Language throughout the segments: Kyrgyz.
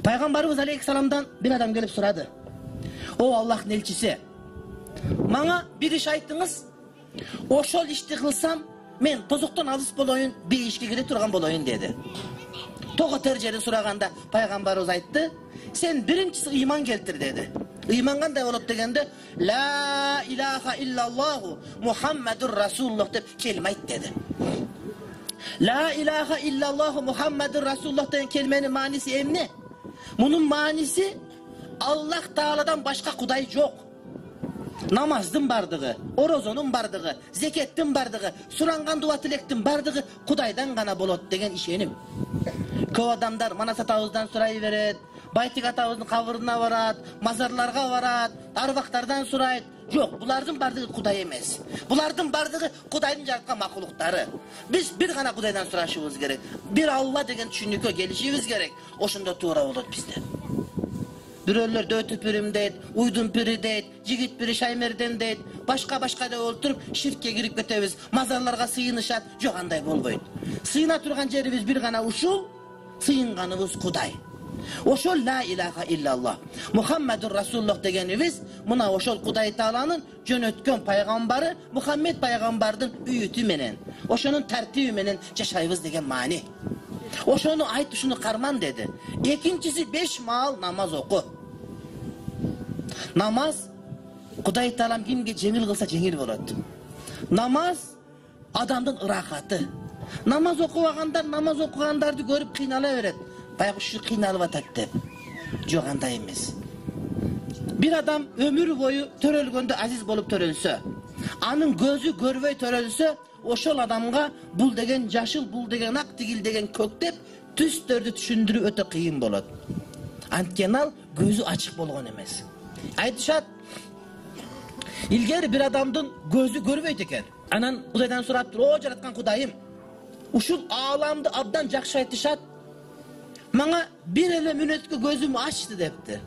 Пайгамбарыбыз алейхиссаламдан бир адам келип сурады: "О Аллахтын элчиси, мага бир иш айтыңыз. Ошол ишти кылсам, мен тозоктон алыс болоюн, бейишке кире турган болоюн" деди. Того тержери сураганда пайгамбарыбыз айтты: "Сен биринчиси ыйман келтир" деди. Ыйман кандай болот дегенде, "Ла илаха иллаллаху Мухаммадур Расулуллах" деп келме айт деди. Ла илаха иллаллаху Мухаммадур Расулуллах деген келменин мааниси эмне? Мунун мааниси Аллах Тааладан башка кудай жок. Намаздын бардыгы, орозонун бардыгы, зекеттин бардыгы, суранган дуа тилектин бардыгы Кудайдан гана болот деген ишеним. Көп адамдар Манас атабыздан сурай берет, Байтик атабыздын кабырына барат, мазарларга барат, арбактардан сурайт. Жок, булардын бардыгы Кудай эмес. Булардын бардыгы Кудайдын жараткан макулуктары. Биз бир гана Кудайдан сурашыбыз керек. Бир Алла деген түшүнүккө келишибиз керек. Ошондо туура болот бизде. Бирөөлөр дөтү пирим дейт, уйдун пири дейт, жигит пири Шаймерден дейт, башка деп олтуруп ширкке кирип кетебиз. Мазарларга сыйынышат. Жок, андай болбойт. Сыйына турган жерибиз бир гана ушул, сыйынганыбыз Кудай. Ошол ла илаха иллаллах Мухаммадур Расулуллах дегенибиз мына ошол Кудай Тааланын жөнөткөн пайгамбары Мухаммед пайгамбардын үйүтү менен, ошонун тартиби менен жашайбыз деген маани. Ошону айт, ушуну карман деди. Экинчиси 5 маал намаз оку. Намаз Кудай Таалам кимге жеңил кылса жеңил болот. Намаз адамдын ырахаты. Намаз окубагандар намаз окугандарды көрүп кыйнала берет. Баягы ушу кыйналып атат деп. Жок, андай эмес. Бир адам өмүр бою төрөлгөндө азиз болуп төрөлсө, анын көзү көрбөй төрөлсө, ошол адамга бул деген жашыл, бул деген ак, тигил деген көк деп түстөрдү түшүндүрүү өтө кыйын болот. Анткени ал көзү ачык болгон эмес. Айтышат, илгери бир адамдын көзү көрбөйт экен. Анан Кудайдан сураптыр: "О жараткан Кудайым, ушул ааламды абдан жакшы айтышат. Мага бир эле мүнөткө көзүмдү ачты" депти.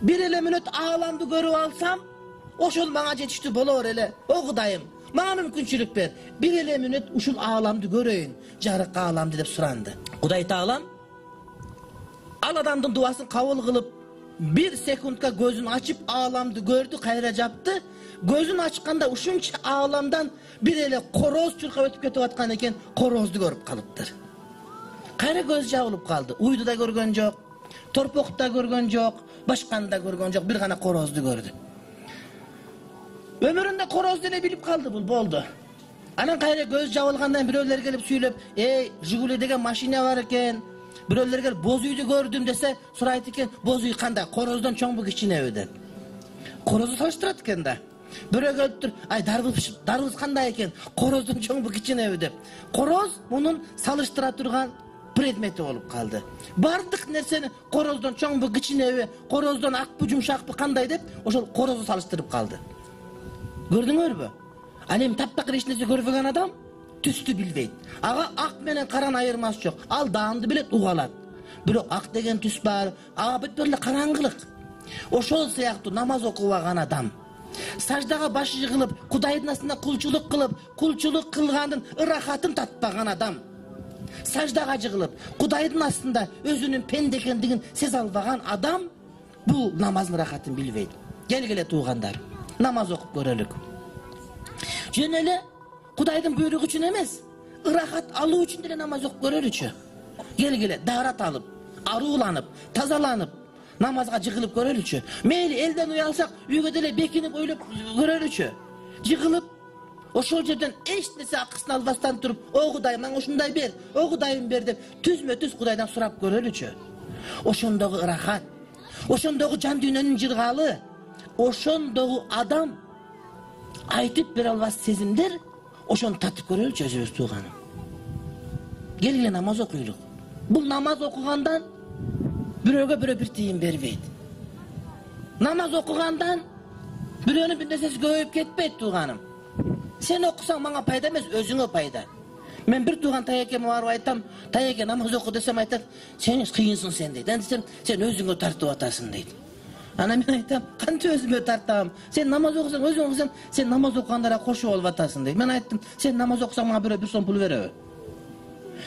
Бир эле мүнөт ааламды көрүп алсам, ошол мага жетиштүү болор эле. О Кудайым, мага мүмкүнчүлүк бер. Бир эле мүнөт ушул ааламды көрөйүн, жарык ааламды деп суранды. Кудай Таалам ал адамдын дубасын кабыл кылып, 1 секундка көзүн ачып ааламды көрдү, кайра жапты. Көзүн ачканда ушунча ааламдан бир эле короз чуркап өтүп кетип аткан экен, корозду көрүп калыптыр. Кайра көз жабылып калды. Уйду да көргөн жок, торпокту да көргөн жок, башканы да көргөн жок, бир гана корозду көрдү. Өмүрүндө короз деле билип калды, бул болду. Анан кайра көз жабылгандан бирөөлөр келип сүйлөп: "Эй, Жигули деген машина бар экен." Бирөөлөр келип: "Боз үйдү көрдүм" десе, сурайт экен: "Боз үй кандай? Короздон чоңбу, кичинеби?" деп. Корозду салыштырат экен да. Бирөө келиптир: "Ай, дарбыз кандай экен? Короздон чоңбу, кичинеби?" деп. Короз мунун салыштыра турган предмети болуп калды. Бардык нерсени короздон чоңбу, кичинеби, короздон акпы, жумшакпы, кандай деп ошол корозду салыштырып калды. Көрдүңөрбү? Ал эми таптакыр эч нерсе көрбөгөн адам түстү билбейт. Ага ак менен караны айырмасы жок. Ал даанды билет, угалат. Бирок ак деген түс бар, ага бүт эле караңгылык. Ошол сыяктуу намаз окубаган адам, саждага баш жыгылып, Кудайдын астында кулчулук кылгандын ырахатын татпаган адам, саждага жыгылып, Кудайдын астында өзүнүн пенде экендигин сезе албаган адам бул намаздын ырахатын билбейт. Келгиле туугандар, намаз окуп көрөлүк. Жөн эле Кудайдын буйругу үчүн эмес, ырахат алуу үчүн деле намаз окуп көрөлүчү. Келгиле даарат алып, арууланып, тазаланып, намазга жыгылып көрөлүчү. Мейли элден уялсак, үйгө деле бекинип ойлоп көрөлүчү. Жыгылып, ошол жерден эч нерсе акысын албастан туруп: "О Кудай, мага ушундай бер, о Кудайым бер" деп түзмө-түз Кудайдан сурап көрөлүчү. Ошондогу ырахат, ошондогу жан дүйнөнүн жыргалы, ошондогу адам айтып бере албас сезимдер, ошону татып көрөлүчү өзүбүз тууганым. Келгиле намаз окуйлук. Бул намаз окугандан бирөөгө бирөө бир тыйын бербейт. Намаз окугандан бирөөнүн бир нерсеси көбөйүп кетпейт тууганым. Сен окусаң мага пайда эмес, өзүңө пайда. Мен бир тууган таекеме барып айтам, таеке намаз оку десем айтат, сен кыйынсың сен дейт. Десем, сен өзүңө тартып атасың дейт. Анан мен айтам, кантип өзүмө тартам? Сен намаз окусаң, өзүң окусаң, сен намаз окугандарға кошуп алып атасың дейт. Мен айттым, сен намаз окусаң мага бирөө 1 сом пул береби?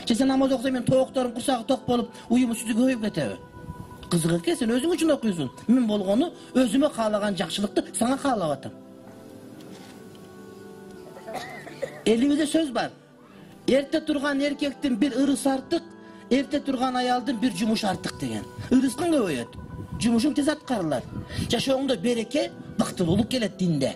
Же сен намаз окусаң мен тоокторум курсагы ток болуп, уюму сүтү көбөйүп кетеби? Кызык экен, сен өзүң үчүн окуйсуң. Мен болгону өзүмө каалаган жакшылыкты сага каалап атам. Элибизде сөз бар. Эрте турган эркектин бир ырысы артык, эрте турган аялдын бир жумушу артык деген. Ырысың көбөйөт, жумушуң тез аткарылат. Жашооңдо береке, бактылуулук келет динде.